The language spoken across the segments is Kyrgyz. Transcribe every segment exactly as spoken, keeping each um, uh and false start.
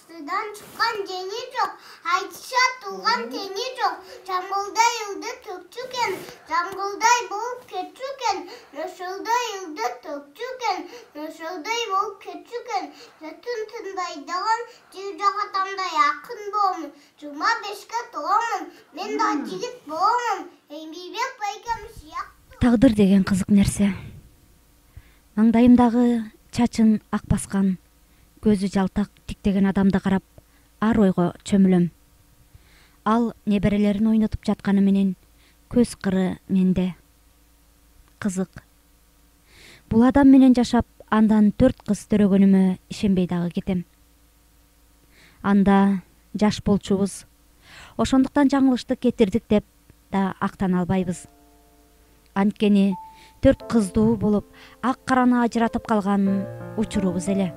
Астыдан чыккан жени жок, айтышат тууган тени жок. Жамгылдай ылды төкчү экен, жамгылдай болуп кетчү экен. Нөшөлдөй ылды төкчү экен, нөшөлдөй болуп кетчү экен. Жөтүн тынбайдаган жыр жагатамдай акын боомун. Жыйырма бешке толомун, мен да жигит боомун. Эмбийбек байкем сыяктуу. Тагдыр деген кызык нерсе. Маңдайымдагы чачын ак баскан, көзү жалтак тиктеген адамды карап ар ойго чөмүлөм. Ал неберелерин ойнотуп жатканы менен көз кыры менде. Кызык. Бул адам менен жашап, андан төрт кыз төрөгөнүмө ишенбей дагы кетем. Анда жаш болчубуз. Ошондуктан жаңылышты кетирдик деп да актана албайбыз. Анткени төрт кыздуу болуп, ак караны ажыратып калган учурубуз эле.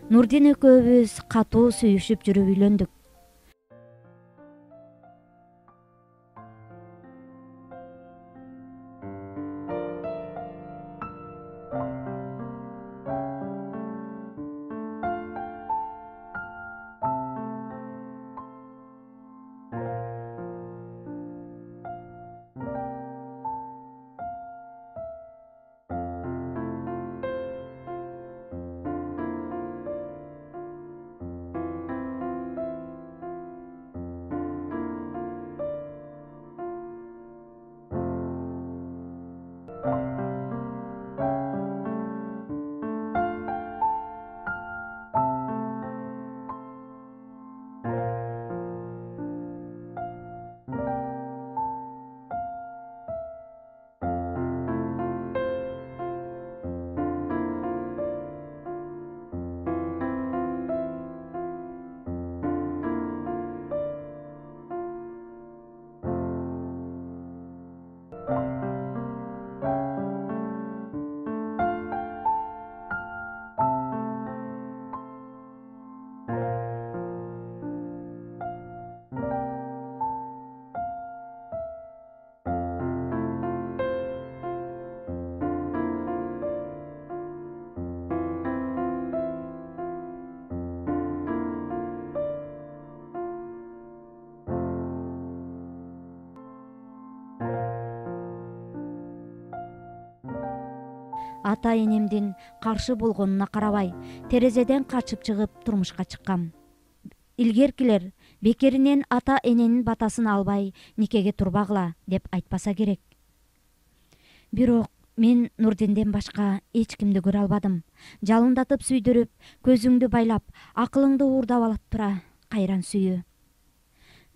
Нурдин экөөбүз катуу сүйүшүп жүрүп үйлөндүк. Ата энемдин каршы болгонуна карабай, терезеден качып чыгып турмушка чыккам. Илгеркилер бекеринен ата эненин батасын албай никеге турбагыла деп айтпаса керек. Бирок мен Нурдинден башка эч кимди көрө албадым. Жалындатып сүйдүрүп, көзүңдү байлап, акылыңды уурдап алып тура кайран сүйүү.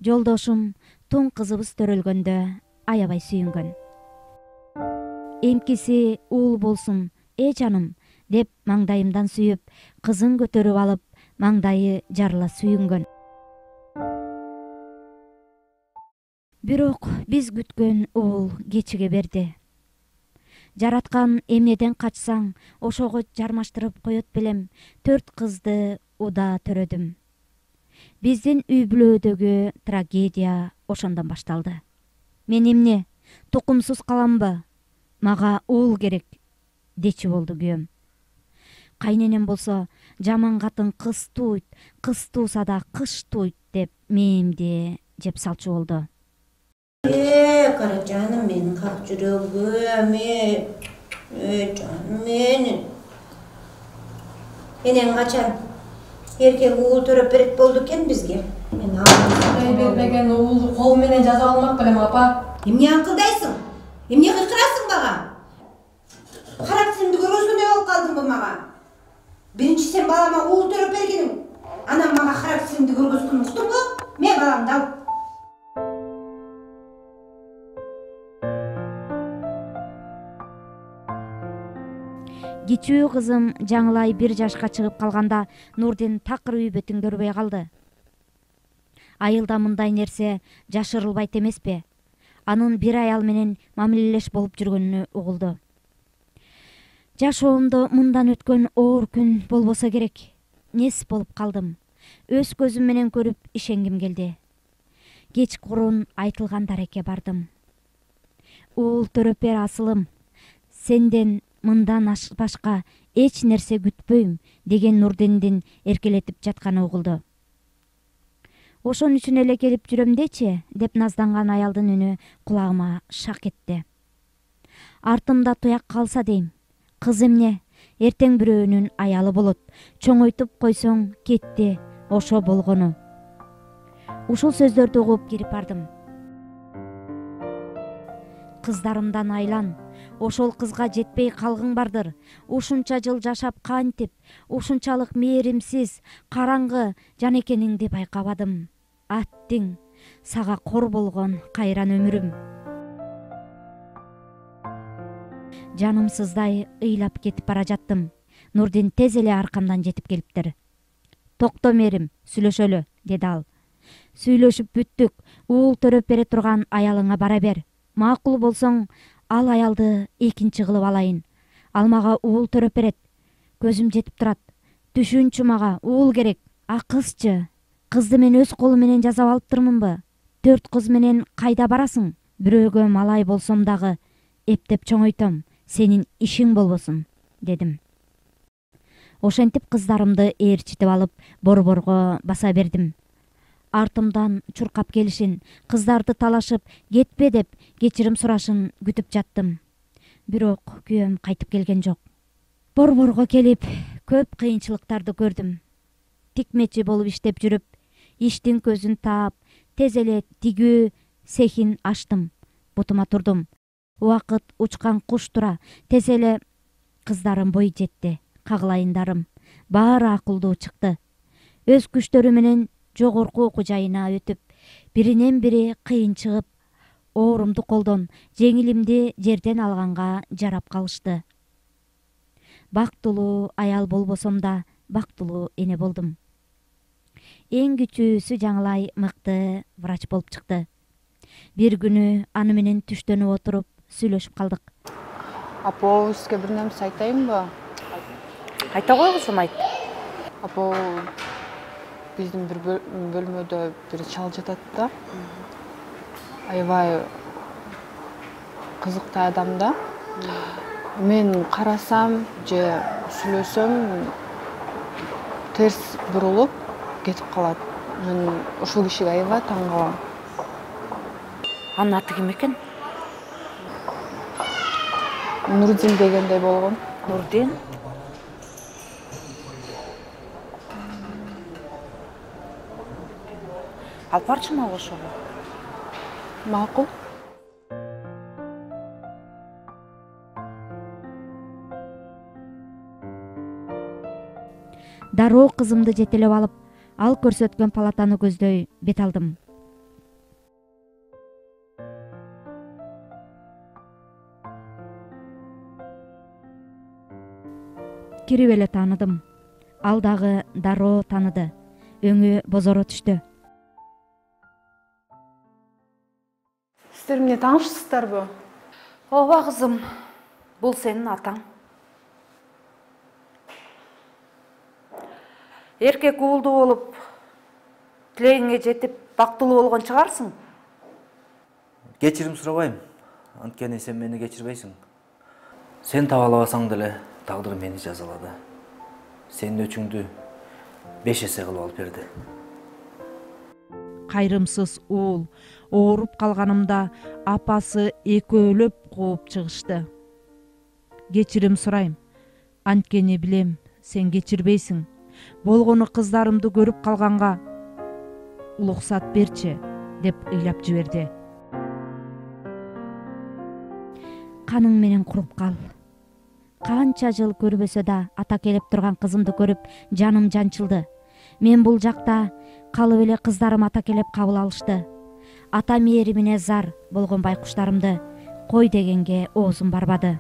Жолдошум тун кызыбыз төрөлгөндө аябай сүйүнгөн. Эмкиси уул болсун, э жаным, деп маңдайымдан сүйүп, кызын көтөрүп алып, маңдайы жарыла сүйүнгөн. Бирок биз күткөн уул кечиге берди. Жараткан эмнеден качсаң, ошого жармаштырып коет белем, төрт кызды уда төрөдүм. Биздин үй бүлөдөгү трагедия ошондон башталды. Мен эмне, тукумсуз каламбы? Мага уул керек, дечи болду күйөөм. Кайненем болсо, жаман катын кыз туйт, кыз тууса да кыш туйт деп мээмди жеп салчу болду. Э, кара жаным менин, как жүрөгүм, э, э, жаным менин. Энең качан эркек уул төрөп берет болду экен бизге. Мен Кудай бербеген уулду кол менен жаза алмак белем, апа. Эмне акылдайсың? Эмне кыйкырасың мага? Характеримди көргөзгөндөй болуп калдыңбы мага? Биринчи сен балама уул төрөп бергениң, анан мага характеримди көргөзгөн уктуңбу? Мен баламды ал. Кичүү кызым жаңылай бир жашка чыгып калганда Нурдин такыр үй бетин көрбөй калды. Айылда мындай нерсе жашырылбайт эмеспи? Анын бир аял менен мамилелеш болуп жүргөнүнө угулду. Жашоомдо мындан өткөн оор күн болбосо керек. Нес болуп калдым. өз көзүм менен көрүп ишенгим келди. Кечкурун айтылган дарекке бардым. Уул төрөпер асылым, сенден мындан башка эч нерсе күтпөйм деген Нурдиндин эркелетип жатканы угулду. Ошон үчүн эле келип жүрөм дечи, деп назданган аялдын үнү кулагыма шак этти. Артымда туяк калса дейм. Кыз эмне? Эртең бирөөнүн аялы болот. Чоңойтуп койсоң кетти, ошо болгону. Ушул сөздөрдү угуп кирип бардым. Кыздарымдан айлан. Ошол кызга жетпей калгың бардыр. Ушунча жыл жашап кантип, ушунчалык мээримсиз, караңгы жан экениңди байкабадым. Аттиң, сага кор болгон кайран өмүрүм. Жанымсыздай ыйлап кетип бара жаттым. Нурдин тез эле аркамдан жетип келиптир. Токто мээрим, сүйлөшөлү, деди ал. Сүйлөшүп бүттүк. Уул төрөп бере турган аялыңа бара бер. Макул болсоң, ал аялды экинчи кылып алайын. Ал мага уул төрөп берет. Көзүм жетип турат. Түшүнчү, мага уул керек. А кызчы? Кызды мен өз колум менен жасап алыптырмынбы? Төрт кыз менен кайда барасың? Бирөөгө малай болсом дагы эптеп чоңойтом. Сенин ишиң болбосун, дедим. Ошентип кыздарымды ээрчитип алып, борборго баса бердим. Артымдан чуркап келишин, кыздарды талашып, кетпе деп кечирим сурашын күтүп жаттым. Бирок күйөөм кайтып келген жок. Борборго келип, көп кыйынчылыктарды көрдүм. Тикмечи болуп иштеп жүрүп, иштин көзүн таап, тез эле тигүү цехин ачтым. Бутума турдум. Убакыт учкан куш тура, тез эле кыздарым бой жетти. Кагылайындарым баары акылдуу чыкты. Өз күчтөрү менен жогорку окуу жайына өтүп, биринен бири кыйын чыгып, оорумду колдон, жеңилимди жерден алганга жарап калышты. Бактылуу аял болбосом да, бактылуу эне болдум. Эң күчүүсү жаңылай мыкты врач болуп чыкты. Бир күнү аны менен түштөнүп отуруп сүйлөшүп калдык. Апа, сизге бир нерсе айтайынбы? Айта кой кызым, айт. Апа, биздин бир бөлмөдө бир чал жатат да. Аябай кызыктай адам да. Мен карасам же сүйлөсөм терс бурулуп кетип калат. Мен ушул кишиге аябай таң калам. Анын аты ким экен? Нурдин дегендей болгон. Нурдин? Алып барчы мага ошого? Макул. Дароо кызымды жетелеп алып, ал көрсөткөн палатаны көздөй бет алдым. Кирип эле тааныдым. Ал дагы дароо тааныды. Өңү бозоро түштү. Сиздер эмне таанышсыздарбы? Ооба кызым, бул сенин атаң. Эркек уулду болуп, тилегиңе жетип, бактылуу болгон чыгарсың. Кечирим сурабайм, анткени сен мени кечирбейсиң. Сен таба албасаң деле тагдыр мени жазалады. Сенин өчүңдү беш эсе кылып алып берди. Кайрымсыз уул ооруп калганымда апасы экөөлөп кууп чыгышты. Кечирим сурайм, анткени билем сен кечирбейсиң. Болгону кыздарымды көрүп калганга уруксат берчи, деп ыйлап жиберди. Каның менен куруп кал. Канча жыл көрбөсө да ата келип турган кызымды көрүп жаным жанчылды. Мен бул жакта калып эле кыздарым ата келип кабыл алышты. Ата мээримине зар болгон байкуштарымды кой дегенге оозум барбады.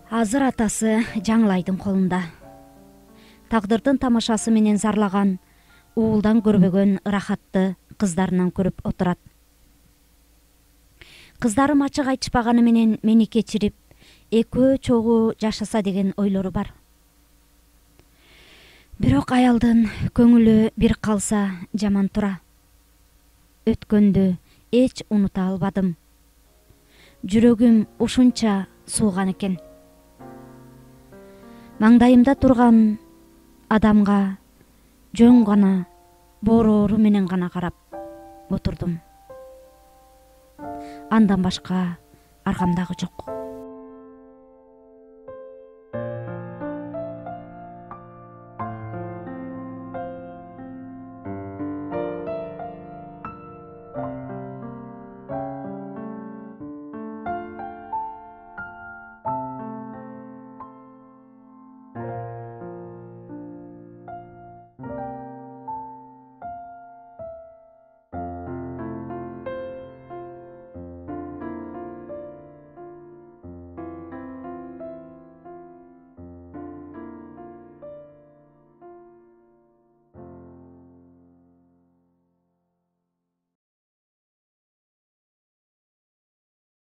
Азыр атасы Жаңылайдын колунда. Тагдырдын тамашасы менен зарлаган, уулдан көрбөгөн ырахатты кыздарынан көрүп отурат. Кыздарым ачык айтышпаганы менен мени кечирип, экөө чогуу жашаса деген ойлору бар. Бирок аялдын көңүлү бир калса жаман тура. Өткөндү эч унута албадым. Жүрөгүм ушунча сууган экен. Маңдайымда турган адамга жөн гана боорору менен гана карап отурдум. Андан башка аргамдагы жок.